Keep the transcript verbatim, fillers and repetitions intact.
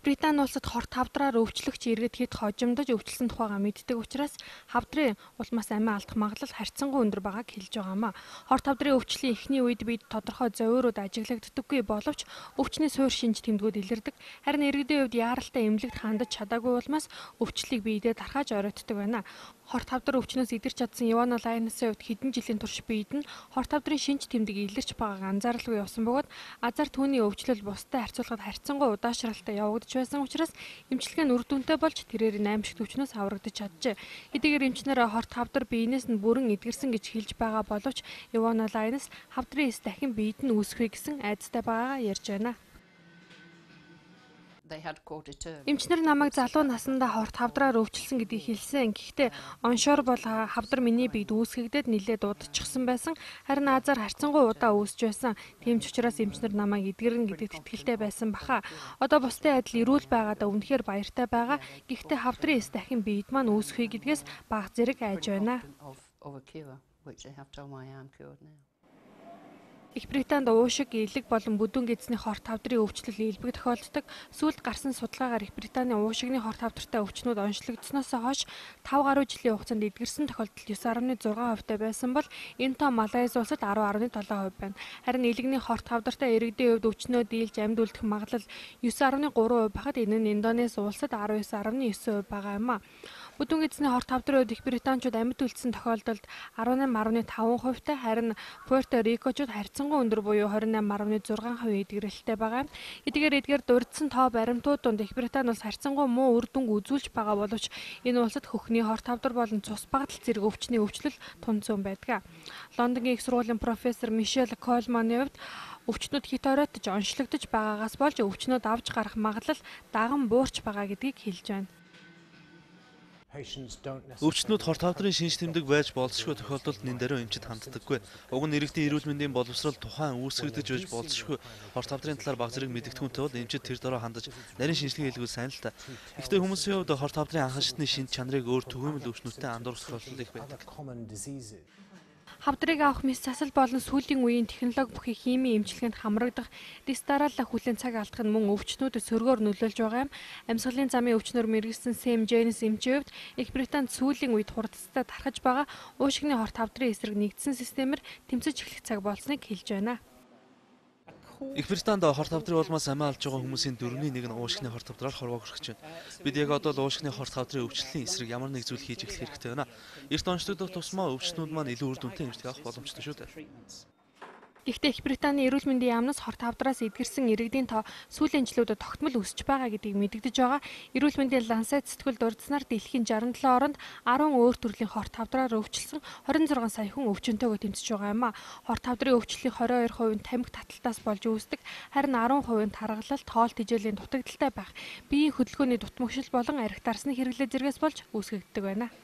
Их Британи улсад хорт хавдраар өвчлөгч иргэд хэд хожимдож өвчлсөн тухайга мэддэг учраас хавдрын улмаас амиа алдах магадлал харьцангуй өндөр байгааг хэлж байгаамаа. Хорт хавдрын өвчлийн эхний үед бид тодорхой зовиорууд ажиглагддаггүй боловч өвчний суур шинж тэмдгүүд илэрдэг. Харин иргэдийн хувьд яаралтай эмнэлэгт хандаж чадаагүй улмаас өвчлөлийг биедээ дархааж оройтдог байна. Хорт хавдар өвчнөөс идэрч чадсан Ивана Лайнасын хувьд хэдэн жилийн турш биед нь хорт хавдрын шинж тэмдэг илэрч байгааг анзааралгүй явсан бөгөөд азар түүний өвчлөл бусдад харьцуулахад харьцангуй удаашралтай явагдаж байсан учраас эмчилгээ нь үр дүнтэй болж тэрээр аймшигт өвчнөөс аврагдаж чаджээ. Хэдийгээр эмчнэр хорт хавдар биенээс нь бүрэн эдгэрсэн гэж хэлж байгаа боловч Ивана Лайнас хавдрын эс дахин биед нь үүсэхүй гэсэн айдастай байгаагаа ярьж байна. Эмчнэр намайг залуу насндаа хорт хавдраар өвчлсөн гэдгийг хэлсэн. Гэхдээ оншоор бол хавдар миний биед үүсгэгдээд нилээд удчихсан байсан. Харин азар харьцангуй удаа үүсч байсан. Тийм ч учраас эмчнэр намайг эдгэрнэ гэдэгт итгэлтэй байсан баха. Одоо бусдын адил эрүүл байгаадаа үнэхээр баяртай байгаа. Гэхдээ хавдрын эс дахин биед маань үүсэхүй гэдгээс бага зэрэг айж байна. Их Британд уушиг, элэг болон бүдүүн гэдэсний хорт хавдрын өвчлөл илбэг тохиолддог. Сүүлд гарсан судалгаагаар Их Британий уушигны хорт хавдартай өвчнүүд онцлогдсноос хойш тавь гаруй жилийн хугацаанд эдгэрсэн тохиолдол9 дасам зургаан хувьтай байсан бол энэ тоо Малайз улсад ten дасам долоо хувь байна. Харин элэгний хорт хавдартай иргэдийн хувьд өвчнөө дийлж амьд үлдэх магадлал nine дасам three хувь байхад энэ нь Индонез улсад nineteen дасам nine хувь байгаа юм а. Бүдүүн гэдэсний хорт хавдрын үед Их Британчууд амьд үлдсэн тохиолдолд eighteen dасам five хувьтай, харин Пуэрто Рикочууд харьцангуй өндөр буюу twenty-eight dасам six хувь эдгэрэлтэй байгаа. Эдгээр эдгээр дурдсан тоо баримтууд донд Их Британи улс харьцангуй муу үр дүнг үзүүлж байгаа боловч энэ улсад хөхний хорт хавдар болон цус багтал зэрэг өвчний өвчлөл тунцсан байдаг. Лондонгийн их сургуулийн профессор Мишель Колманы хувьд өвчнүүд хит оройтож онцлогдож байгаагаас болж өвчнүүд авч гарах магадлал даган буурч байгаа гэдгийг хэлж байна. Өвчнүүд хорт хавдрын шинж тэмдэг байж болзошгүй тохиолдолд нэн даруй эмчит ханддаггүй. Уг нь иргэдийн эрүүл мэндийн боловсрол тухайн үүсгэгдэж байж болзошгүй хорт хавдрын талаар бага зэрэг мэдэгдэхүүнтэй бол эмчит тэр дороо хандаж нарийн шинжилгээ хийлгүүл сайн л та. Гэхдээ хүмүүсийн хувьд хорт хавдрын анхан шатны шинж чанарыг өөр түгээмэл өвчнүүдтэй андуурах тохиолдол их байдаг. Хавдрыг авах мэс засал болон сүүлийн үеийн технологи бүхий химийн эмчилгээнд хамрагдах дистаралла хүлэн цаг алдах нь мөн өвчнүүдэд сөргөөр нөлөөлж байгаа юм. Амьсгалын замын өвчнөр мэргэсэн Сэм Джейнс эмчийн хувьд Их Британд сүүлийн үед хурдцтай тархаж байгаа уушигны хорт хавдрын эсрэг нэгдсэн системээр тэмцэж эхлэх цаг болсныг хэлж байна. Их Британд хорт хавдрын улмаас амиа алж байгаа хүмүүсийн дөрвний нэг нь уушигны хорт хавдраар хорвоо хүрч байна. Бид яг одоо л уушигны хорт хавдрын өвчлөлийн эсрэг ямар нэг зүйл хийж эхлэх хэрэгтэй байна. Эрт онцлогдох тусмаа өвчнүүд маань илүү үр дүнтэй эмчилгээ авах боломжтой шүү дээ. Гэхдээ Их Британий эрүүл мэндийн яамнаас хорт хавдраас эдгэрсэн иргэдийн тоо сүүлийн жилүүдэд тогтмол өсөж байгаа гэдгийг мэдэгдэж байгаа. Эрүүл мэндийн Lancet сэтгүүл дурдсанаар дэлхийн sixty-seven оронд ten өөр төрлийн хорт хавдраар өвчлсөн twenty-six сая хүн өвчнөтэйгөө тэмцэж байгаа юм а. Хорт хавдрын өвчлөлийн twenty-two percent нь тамхи таталтаас болж үүсдэг. Харин ten percent нь таргалалт, хоол тэжээлийн дутагдaltaй байх, биеийн хөдөлгөөний дутмагшил болон архи дарсны хэрэглээ зэргээс болж үүсгэгддэг байна.